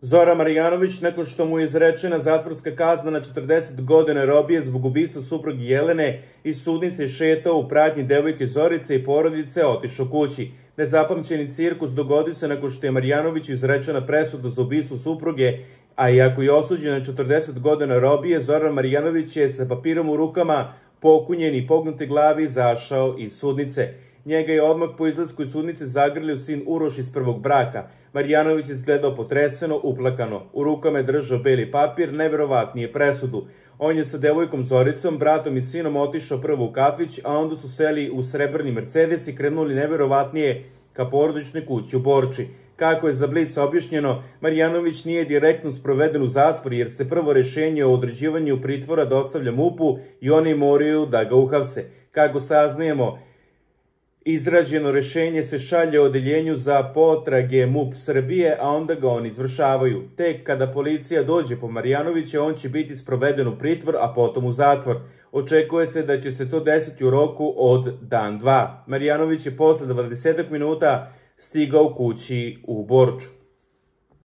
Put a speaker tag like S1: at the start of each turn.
S1: Zoran Marjanović, nakon što mu je izrečena zatvorska kazna na 40 godina robije zbog ubistva supruge Jelene, iz sudnice je šetao u pratnji devojke Zorice i porodice, otišao kući. Nezapamćeni cirkus dogodio se nakon što je Marjanović izrečena presuda za ubistvo supruge, a iako je osuđen na 40 godina robije, Zoran Marjanović je sa papirom u rukama, pokunjen i pognute glavi, izašao iz sudnice. Njega je odmah po izlasku iz sudnice zagrlio sin Uroš iz prvog braka. Marjanović je izgledao potreseno, uplakano. U rukama je držao beli papir, neverovatnije presudu. On je sa devojkom Zoricom, bratom i sinom otišao prvo u kafić, a onda su seli u srebrni Mercedes i krenuli neverovatnije ka porodičnoj kući u Borči. Kako je za Blic objašnjeno, Marjanović nije direktno sproveden u zatvor jer se prvo rešenje o određivanju pritvora dostavlja MUP-u i oni moraju da ga uhapse. Kako saznajemo, izrađeno rešenje se šalje odeljenju za potrage MUP Srbije, a onda ga oni izvršavaju. Tek kada policija dođe po Marjanovića, on će biti sproveden u pritvor, a potom u zatvor. Očekuje se da će se to desiti u roku od dan, dva. Marjanović je posle 20 minuta stigao kući u Borču.